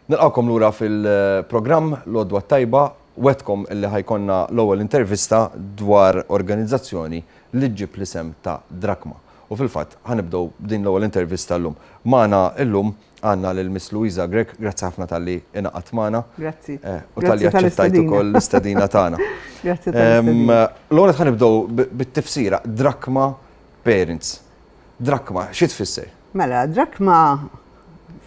Nilqgħukom lura fil-programm L-Għodwa t-Tajba. Wegħdtkom illi ħa jkollna l-ewwel intervista dwar organizzazzjoni li ġġib l-isem ta' Drakma. U fil-fatt ħa nibdew b'din l-ewwel intervista llum. Magħna llum għandna lil Miss Louisa Grech, grazzi ħafna talli ingħaqadt magħna. Grazzi. U talli aċċettajt ukoll l-istedina tagħna. Grazzi tal-istedina. L-ewwel nett ħa nibdew bit-tifsira Drakma Parents. Drakma, xi tfisser? Mela, drakma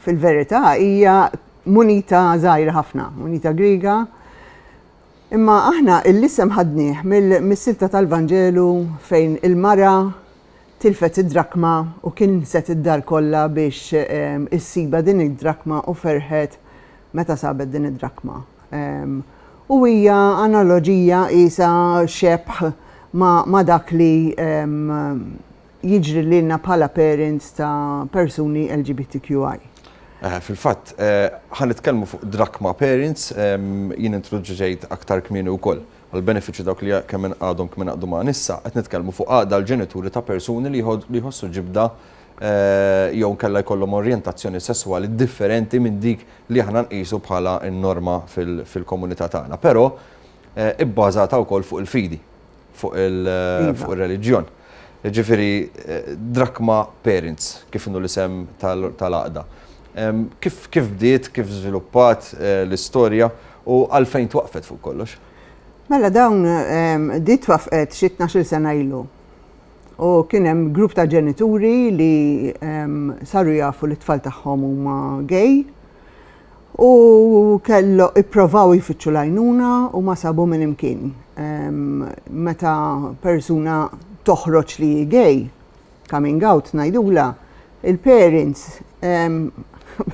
fil-verità hija munita żgħira ħafna, munita Griega. Imma aħna l-isem ħadnieh mis-silta tal-Vanġelu fejn il-mara tilfet id-drakma u kinset id-dar kollha biex issibha din id-drakma u ferħet meta sabet din id-drakma. U hija analoġija qisha xebh ma' dak li jiġri lilna bħala parents ta' persuni LGBTQI. Fil-fatt, ħa nitkellmu fuq Drakma Parents, jien introduċejt aktar kmieni wkoll. Għall-benefiċċju dawk li kemm għadhom kemm ingħaqdu magħna issa, qed nitkellmu fuq għaqda l-ġenituri ta' persuni li jħossu ġibda jew inkella jkollhom orjentazzjoni sesswali differenti minn dik li aħna nqisu bħala n-norma fil-komunità tagħna. Però ibbażata wkoll fuq il-fidi. fuq il-reliġjon. Ġifieri Drakma Parents, kif inhu l-isem tal-għaqda. Kif kif bdiet, kif żviluppat l-istorja u għalfejn twaqqfet fuq kollox? Mela dawn di twaffqet xi 12-il sena ilu. U kien hemm grupp ta' ġenituri li saru jafu li t-tfal tagħhom huma gay U kellu ipprovaw jfittxu l-għajnuna u ma sabu minn imkien. Meta persuna toħroġ li hi gay, coming out ngħidulha, il-parents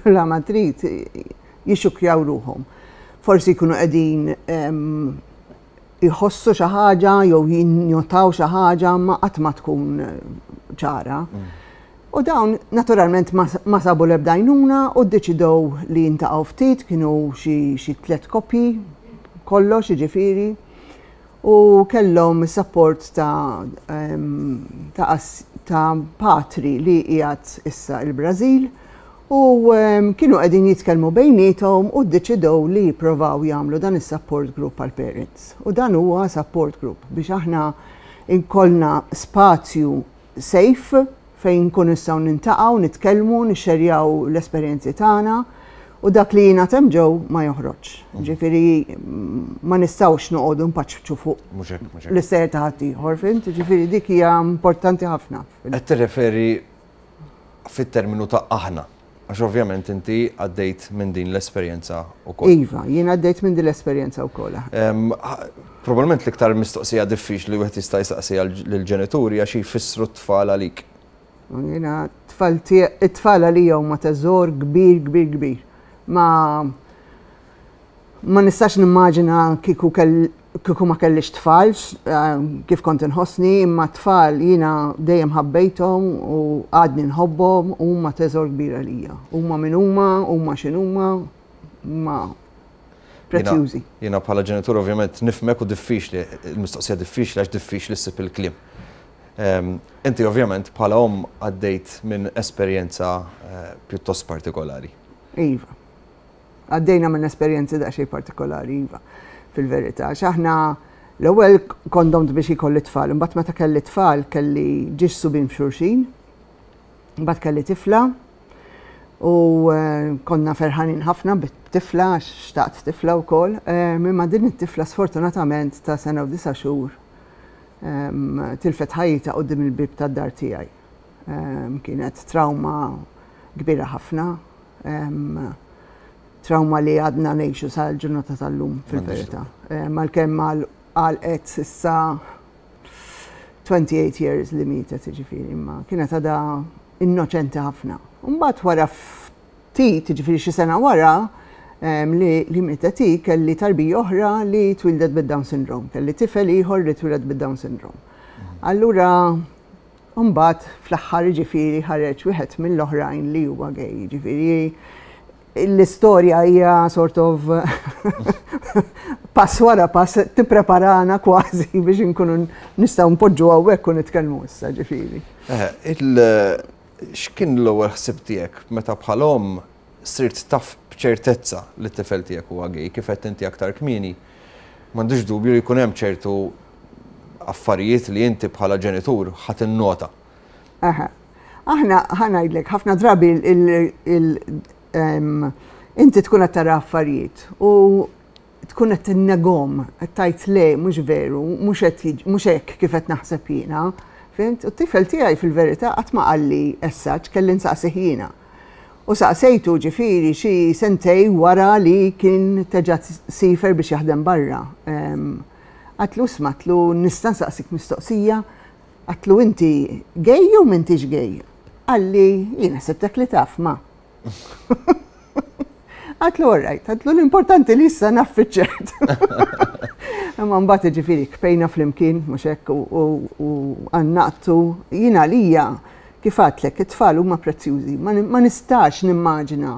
bla ma trid jixxukkjaw ruħhom. Forsi jkunu qegħdin jħossu xi ħaġa jew jinnotaw xi ħaġa ma qatt ma tkun ċara. U dawn naturalment ma sabu l-ebda għajnuna u ddeċidew li jintaqgħu ftit, kienu xi tliet koppji kollox jiġifieri u kellhom is-sapport ta' ta' ta' patri li qiegħed issa il-Brażil u kienu qegħdin jitkellmu bejniethom u ddeċidew li jipprovaw jagħmlu dan is-support group għall-parents. U dan huwa support group biex aħna nkollna spazju safe fejn nkunu nistgħu nintaqgħu, nitkellmu, nixxerjaw l-esperjenzi tagħna u dak li jingħad hemm ġew ma joħroġx. Ġifieri ma nistgħux noqogħdu npaċċu fuq l-istejjer ta' ħaddieħor, fhimt? Ġifieri dik hija importanti ħafna. Qed tirreferi fit-terminu ta' aħna. Għax ovvjament inti għaddejt minn din l-esperjenza wkoll. Iva, jien għaddejt minn din l-esperjenza wkoll. Probabbilment l-iktar mistoqsija diffiċli li wieħed jista' jsaqsi lill-ġenituri hija xi jfissru t-tfal għalik. Jiena t-tfal it-tfal għalija huma teżor kbir, kbir, kbir. Ma Ma nistax nimmaġina kieku kieku ma kellix tfal kif kont inħossni, imma t-tfal jiena dejjem ħabbejthom u għadni nħobbhom u huma teżor kbir għalija. Huma min huma, huma x'inhuma, huma prezzjużi. Jiena bħala ġenitur ovvjament nifhmek u diffiċli, il-mistoqsija diffiċli għax diffiċli ssib il-kliem. Inti ovvjament bħala omm għaddejt minn esperjenza pjuttost partikolari. Iva. Għaddejna minn esperjenzi daqsxejn partikolari, iva, fil-verità. Għax aħna l-ewwel kont domt biex ikolli tfal, imbagħad meta kelli tfal kelli ġiex subien f'xulxin, imbagħad kelli tifla u eh, konna ferħanin ħafna bit-tifla għax xtaqt tifla wkoll, eh, imma din it-tifla sfortunatament ta' sena u disa' xhur ehm, tilfet ħajjitha quddiem il-bieb tad-dar tiegħi. Ehm, kienet trauma kbira ħafna, Trauma li għadna ngħixu sal-ġurnata tal-lum fil-verità. Għalkemm għalqet issa 28 years li mietet jiġifieri, imma kienet għadha innoċenti ħafna. Mbagħad wara ftit, jiġifieri xi sena wara li mietet hi, kelli tarbija oħra li twildet bid-Down syndrome, kelli tifel ieħor li twieled bid-Down syndrome. Allura U mbagħad fl-aħħar jiġifieri ħareġ wieħed mill-oħrajn li huwa gay, jiġifieri l-istorja hija sort of pass wara pass tippreparana kważi biex inkunu nistgħu npoġġu hawnhekk u nitkellmu issa ġifieri. X'kien l-ewwel ħsieb tiegħek meta bħal omm sirt taf b'ċertezza li t-tifel tiegħek huwa gay, kif għedt inti aktar kmieni, m'għandix dubju li jkun hemm ċertu affarijiet li inti bħala ġenitur ħa tinnota. Aha. Aħna ħa ngħidlek ħafna drabi inti tkun qed tara affarijiet u tkun qed tinnegom, qed tgħid le mhux veru, mhux qed mhux hekk kif qed naħseb jiena. Fhimt? U t-tifel tiegħi fil-verità qatt ma qalli as such, kelli nsaqsih jiena. U saqsejtu ġifieri xi sentej wara li kien teġa' siefer biex jaħdem barra. Għadtlu isma' għadtlu nista' nsaqsik mistoqsija? Għadtlu inti gay jew m'intix gay? Qalli jien ħsibtek li taf ma. Għadtlu all right, għadtlu l-importanti li issa naf fiċ-ċert. Imma mbagħad ġifieri kpejna flimkien mhux hekk u għannaqtu jien għalija Kif għadtlek, it-tfal huma prezzjużi. Ma nistax nimmaġina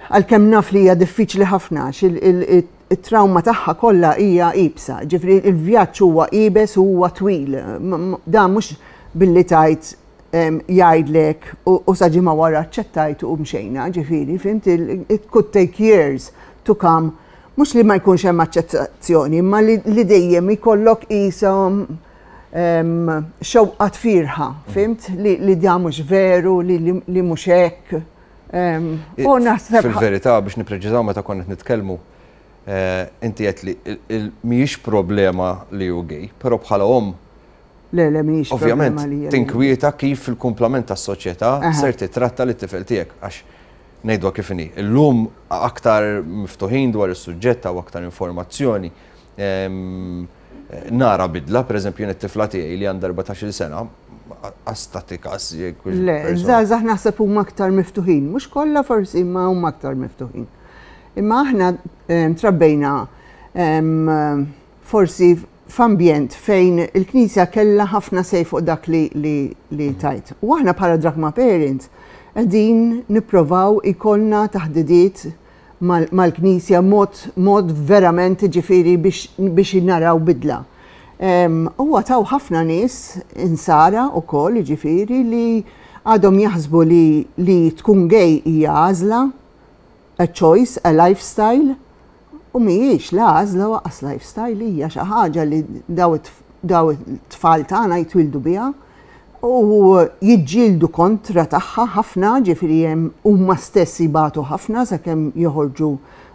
għalkemm naf li hija diffiċli ħafna għax it-trawma tagħha kollha hija iebsa. Ġifieri il-vjaġġ huwa iebes u huwa twil. Dan mhux billi tgħid jgħidlek u sa ġimgħa wara aċċettajt u mxejna, ġifieri, fhimt, it could take years to come. Mhux li ma jkunx hemm aċċettazzjoni, imma li dejjem ikollok qishom xewqa tfirħa, fimt? Li da mhux veru, li mhux hekk. U naħseb. Fil-verità biex nippreċiżaw meta konna qed nitkellmu, eh, inti qed li mhijiex problema li hu gay, però bħala omm Le, le, mhijiex Ovvjament, tinkwieta kif fil-kumplament tas-soċjetà ser titratta lit tifel tiegħek għax ngħidwa kif inhi. Illum aktar miftuħin dwar is-suġġett u aktar informazzjoni. Nara bidla, per eżempju, jien it-tifla tiegħi li għandha 14-il sena, qas tagħti każ jekk hux. Le, żgħażagħ naħseb huma aktar miftuħin, mhux kollha forsi imma huma aktar miftuħin. Imma aħna trabbejna forsi f'ambjent fejn il-Knisja kellha ħafna say fuq dak li, li, li tajt. U aħna bħala Drachma Parents qegħdin nipprovaw ikollna taħdidiet mal-Knisja mod mod verament jiġifieri biex biex naraw bidla. Huwa taw ħafna nies insara wkoll jiġifieri li għadhom jaħsbu li li tkun gay hija għażla, a choice, a lifestyle, u mhijiex la għażla u anqas lifestyle hija xi ħaġa li daw daw it-tfal tagħna jitwieldu biha u jiġġieldu kontra tagħha ħafna, ġifieri hemm huma stess jbatu ħafna sakemm joħorġu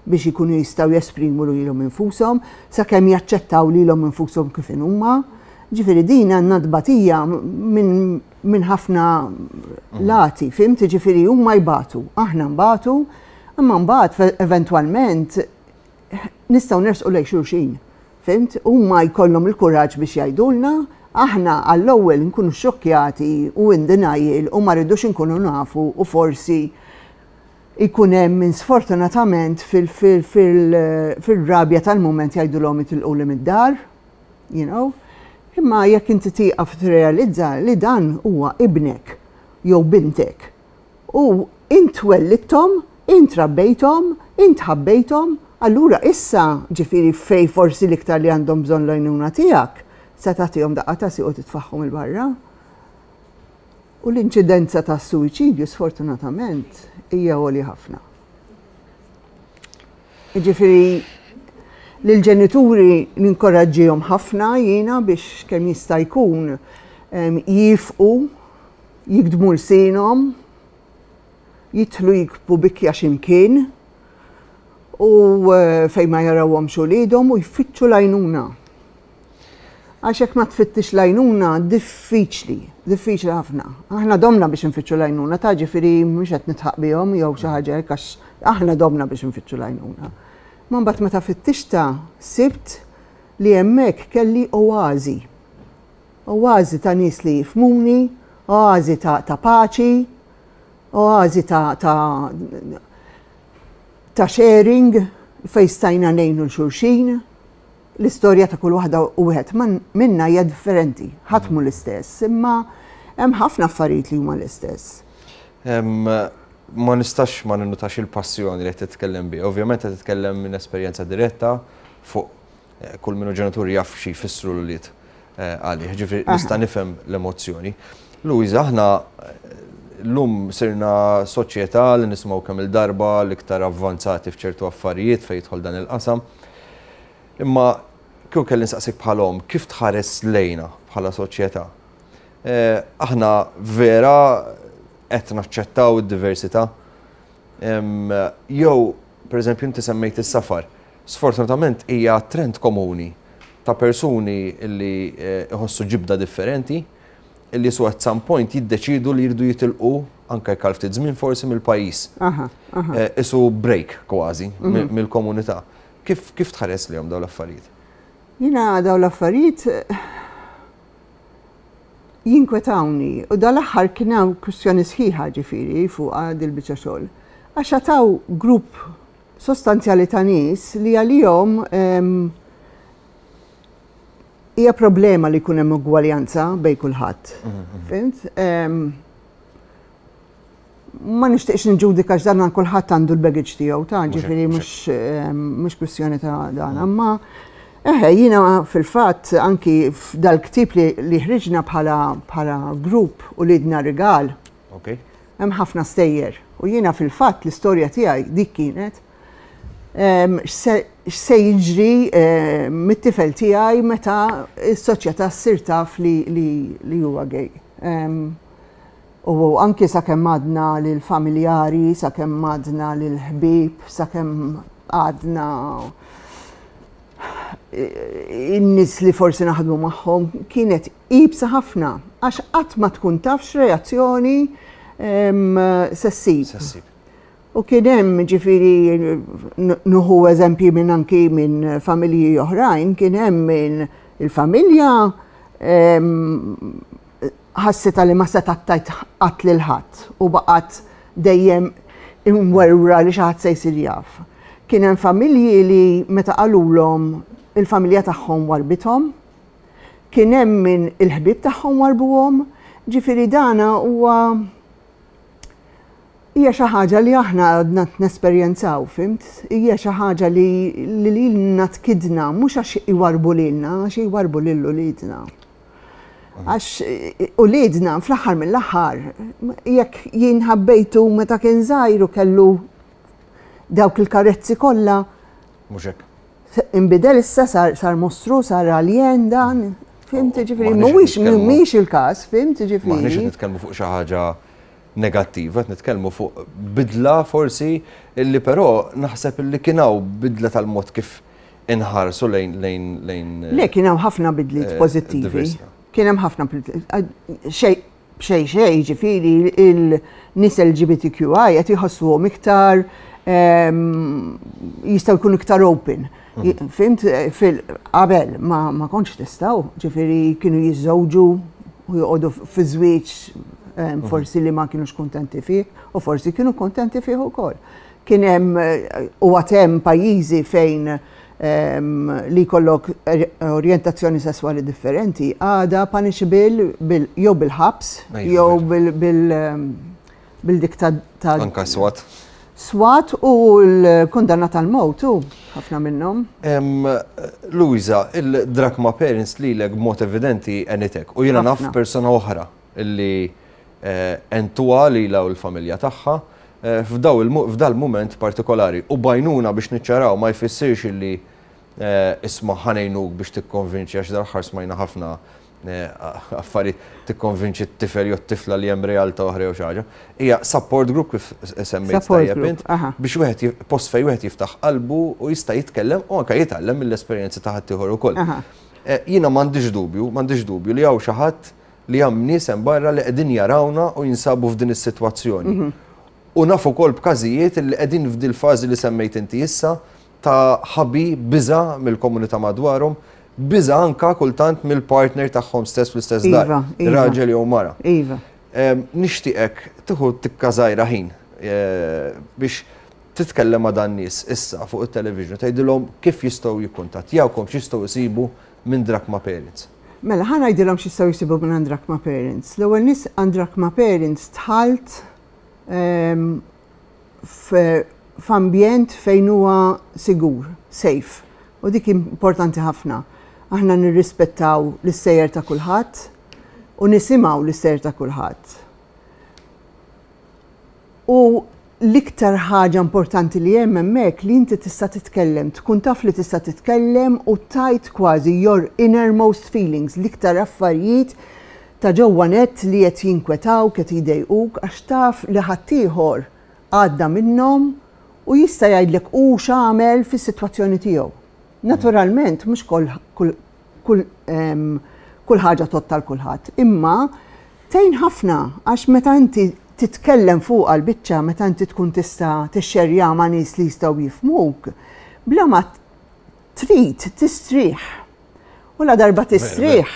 biex ikunu jistgħu jesprimu lilhom infushom, sakemm jaċċettaw lilhom infushom kif inhuma. Ġifieri din għandna tbatija minn min ħafna lati, fhimt? Ġifieri huma jbatu, aħna nbatu, imma mbagħad eventwalment nistgħu nersqu lejn xulxin. Fhimt? Huma jkollhom il-kuraġġ biex jgħidulna, aħna għall-ewwel nkunu xxokkjati u in denial u ma rridux inkunu nafu u forsi jkun hemm min sfortunatament fil-rabja tal-mument jgħidulhom itilquli mid-dar, you know. Imma jekk inti tieqaf tirrealizza li dan huwa ibnek jew bintek U int wellidthom, int rabbejthom, int ħabbejthom, allura issa, ġifieri fejn forsi l-iktar li għandhom bżonn l-għajnuna tiegħek, se tagħtihom daqqa ta' sieq u titfagħhom 'il barra? U l-inċidenza tas-suwiċidju sfortunatament hija għolja ħafna. Jiġifieri lill-ġenituri ninkoraġġihom ħafna jiena biex kemm jista' jkun jifqu jigdmu lsienhom, jidħlu jikbu bikja xi mkien u fejn ma jarawhomx uliedhom u jfittxu l-għajnuna. Għax jekk ma tfittix l-għajnuna diffiċli, diffiċli ħafna. Aħna domna biex nfittxu l-għajnuna, ta' ġifieri mhux qed nidħaq bihom jew xi ħaġa hekk għax aħna domna biex nfittxu l-għajnuna. Ma mbagħad meta fittixtha sibt li hemmhekk kelli oażi. Oażi ta' nies li jifhmuni, oażi ta' ta' paċi, oażi ta' ta' ta' sharing fejn stajna ngħinu 'l xulxin. L-istorja ta' kull waħda u wieħed minna hija differenti, ħadd mhu l-istess, imma hemm ħafna affarijiet li huma l-istess. Ma nistax ma ninnutax il-passjoni li qed titkellem biha. Ovvjament qed titkellem minn esperjenza diretta fuq Kull min hu ġenitur jaf xi jfissru l-ulied għalih, ġifieri nista' nifhem l-emozzjoni. Louisa, aħna Llum sirna soċjetà li nisimgħu kemm-il darba l-iktar avvanzati f'ċertu affarijiet fejn jidħol dan il-qasam. Imma kieku kelli nsaqsik bħala omm, kif tħares lejna bħala soċjetà? Aħna vera qed naċċettaw id-diversità? Jew, pereżempju, inti semmejt is-safar. Sfortunatament hija trend komuni ta' persuni li jħossu ġibda differenti, illi su at some point jiddeċidu li jridu jitilqu anke jekk għal ftit żmien forsi mill-pajjiż. Isu break kważi mill-komunità. Kif kif tħares lejhom dawn l-affarijiet? Jiena dawn l-affarijiet jinkwetawni u dal-aħħar kien hawn kwistjoni sħiħa ġifieri fuqha dil-biċċa xogħol. Għax għataw grupp sostanzjali ta' nies li għalihom Hija problema li jkun hemm ugwaljanza bejn kulħadd. Fhimt? Ma nixtieqx niġġudika x'dan kulħadd għandu l-baggage tiegħu ta' ġifieri mhux kwistjoni ta' dan. Imma eħe jiena fil-fatt anki f'dal-ktieb li ħriġna bħala grupp Uliedna Rigal. Hemm ħafna stejjer u jiena fil-fatt l-istorja tiegħi dik kienet. X'se jiġri mit-tifel tiegħi meta s-soċjetà ssir taf li huwa gay. U anki sakemm għadna lill-familjari, sakemm għadna lill-ħbieb, sakemm għadna in-nies li forsi naħdmu magħhom, kienet iebsa ħafna għax qatt ma tkun taf x'reazzjoni se ssib. U kien hemm, ġifieri nuħu eżempji minn anki minn familji oħrajn, kien hemm minn il-familja ħassitha li ma setgħet tgħid qatt lil ħadd u baqgħet dejjem imwerwra li xi ħadd se jsir jaf. Kien hemm familji li meta qalulhom il-familja tagħhom warbithom. Kien hemm min il-ħbieb tagħhom warbuhom. Ġifieri dana huwa Hija xi ħaġa li aħna għadna nesperjenzaw, fhimt? Hija xi ħaġa li lilna tkidna, mhux għax iwarrbu lilna, għax iwarrbu lil uliedna. Għax uliedna fl-aħħar mill-aħħar, jekk jien ħabbejtu meta kien żgħir u kellu dawk il-karezzi kollha. Mhux hekk. Inbidel issa sar, sar mostru, sar alien dan, fhimt ġifieri, mhuwiex mhuwiex il-każ, fhimt ġifieri. M'aħniex qed nitkellmu fuq xi ħaġa negattiva, qed nitkellmu fuq bidla forsi illi però naħseb illi kien hawn bidla tal-mod kif inħarsu lejn lejn lejn. Le kien hawn ħafna bidliet eh, pożittivi. Kien hemm ħafna xejn xejn xejn ġifieri il-nies LGBTQI qed jħossuhom iktar ehm, jistgħu jkunu iktar open. Mm. Fimt, fil-qabel ma, ma kontx tistgħu, ġifieri kienu jiżżewġu u joqogħdu fi żwieġ mhm. forsi li ma kienux kuntenti fih u forsi kienu kuntenti fih ukoll. Kien hemm u għad hemm pajjiżi fejn li jkollok orjentazzjoni sesswali differenti għada punishable jew bil-ħabs jew bil bil-dik ta' Anka swat. Swat u l-kundanna tal-mowt u ħafna minnhom. Luisa, il-Drachma Parents lilek b'mod evidenti għenitek u jiena naf persuna oħra li eh, għentuha lilha u l-familja tagħha eh, f'dal-mument partikolari u bajnuna biex niċċaraw ma jfissirx illi eh, isma' ħa ngħinuk biex tikkonvinċi għax dal-aħħar smajna ħafna affarijiet tikkonvinċi t-tifel jew t-tifla li hemm realtà oħra jew xi ħaġa. Hija support group kif semmejt tajjeb int biex wieħed post fejn wieħed jiftaħ qalbu u jista' jitkellem u anke jitgħallem mill-esperjenzi ta' ħaddieħor ukoll. Eh, jiena m'għandix dubju, m'għandix dubju li hawn xi ħadd li hemm nies hemm barra li qegħdin jarawna u jinsabu f'din is-sitwazzjoni. Mhm. U naf ukoll b'każijiet li qegħdin f'dil fażi li semmejt inti issa ta' ħabi, biża' mill-komunità madwarhom, biża' anka kultant mill-partner tagħhom stess fl-istess dar, iva, iva. raġel jew mara. Iva. Nixtieqek tieħu tikka żgħira ħin eh, biex titkellem ma' dan nies issa fuq it-television tgħidilhom kif jistgħu jikkuntattjawkom, x'jistgħu jsibu minn Drachma Parents. Mela, ħa ngħidilhom x'jistgħu jsibu minn Drachma Parents. L-ewwel nies għand Drachma Parents dħalt f'ambjent fejn huwa sigur, safe. U dik importanti ħafna. Aħna nirrispettaw l-istejjer ta' kulħadd u nisimgħu l-istejjer ta' kulħadd. U l-iktar ħaġa importanti li hemm hemmhekk li inti tista' titkellem, tkun taf li tista' titkellem u tgħid kważi your innermost feelings, l-iktar affarijiet ta' ġewwa net li qed jinkwetawk, qed jdejquk, għax taf li ħaddieħor għadda minnhom u jista' jgħidlek hu x'għamel fis-sitwazzjoni tiegħu. Naturalment mhux kull kull kull ħaġa tgħodd għal kulħadd, imma tgħin ħafna għax meta inti titkellem fuq għal-biċċa, meta inti tkun tista' tixxerja ma' nies li jistgħu jifhmuk, bla ma trid tistrieħ. U la darba tistrieħ,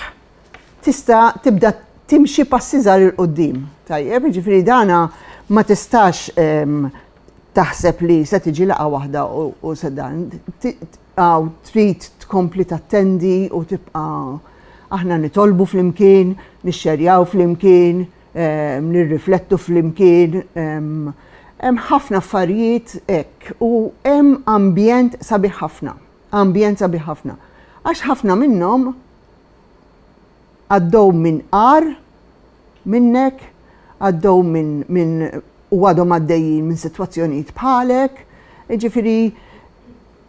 tista' tibda timxi passi żgħar 'il quddiem. Tajjeb, jiġifieri dana ma tistax taħseb li se tiġi laqgħa waħda u se dan. Għaw trid tkompli tattendi u tibqa' aħna nitolbu flimkien, nixxerjaw flimkien, nirriflettu flimkien. Hemm ħafna affarijiet hekk u hemm ambjent sabiħ ħafna. Ambjent sabiħ ħafna. Għax ħafna minnhom għaddew minn agħar minnek, għaddew minn min u għadhom għaddejjin minn sitwazzjonijiet bħalek, jiġifieri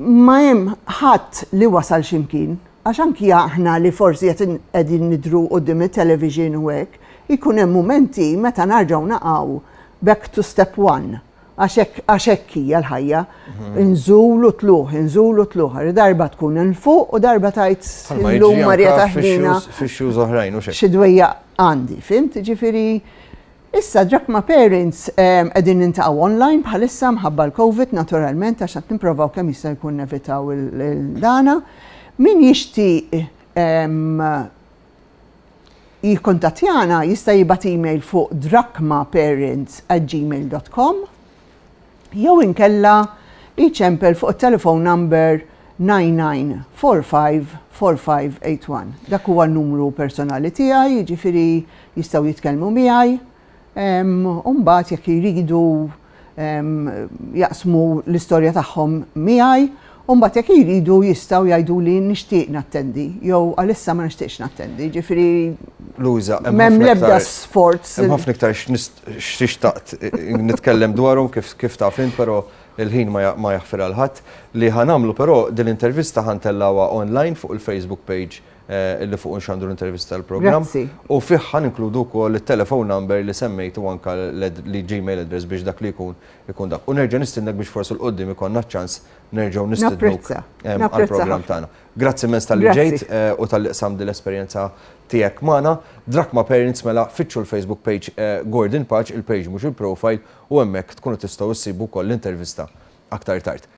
ma hemm ħadd li wasal x'imkien, għax anki aħna li forsi qed qegħdin nidhru quddiem it-television u hekk, ikun hemm mumenti meta narġgħu naqgħu back to step one. Għax hekk għax hekk hija l-ħajja. Inżul u tlugħ, inżul u tlugħ. Darba tkun 'il fuq u darba tgħid illum Marija taħdina. Fix-shoes oħrajn u xejn. Xi dwejjaq għandi, fhimt? Ġifieri issa Drachma Parents qegħdin niltaqgħu online bħalissa mħabba l-Covid naturalment għax qed nipprovaw kemm jista' jkun nevitaw il-dana. Min jixtieq jikkuntattjana jista' jibgħat email fuq drachmaparents@gmail.com jew inkella jċempel fuq it-telephone number 99454581. Dak huwa n-numru personali tiegħi, jiġifieri jistgħu jitkellmu miegħi. U mbagħad jekk jridu jaqsmu l-istorja tagħhom miegħi, u mbagħad jekk jridu jistgħu jgħiduli nixtieq nattendi jew għalissa ma nixtieqx nattendi. Ġifieri Luisa, m'hemm l-ebda sforz. Hemm ħafna iktar x'tixtaqt nitkellem dwarhom kif taf int, però il-ħin ma jaħfir għal ħadd. Li ħa nagħmlu però din l-intervista ħa ntellgħuha online fuq il-Facebook page illi fuq nxandru l-intervista tal-programm. U fih ħa ninkludu wkoll it-telephone number li semmejt u anka l-Gmail address biex dak li jkun ikun dak. U nerġa' nistiednek biex forsi 'l quddiem ikollna ċ-ċans nerġgħu nistidnuk għall-programm tagħna. Grazzi immens talli ġejt u talli qsamt din l-esperjenza tiegħek magħna. Drachma Parents mela fittxu l-Facebook page Gordon Pace, il-page mhux il-profile, u hemmhekk tkunu tistgħu issibu wkoll l-intervista aktar tard.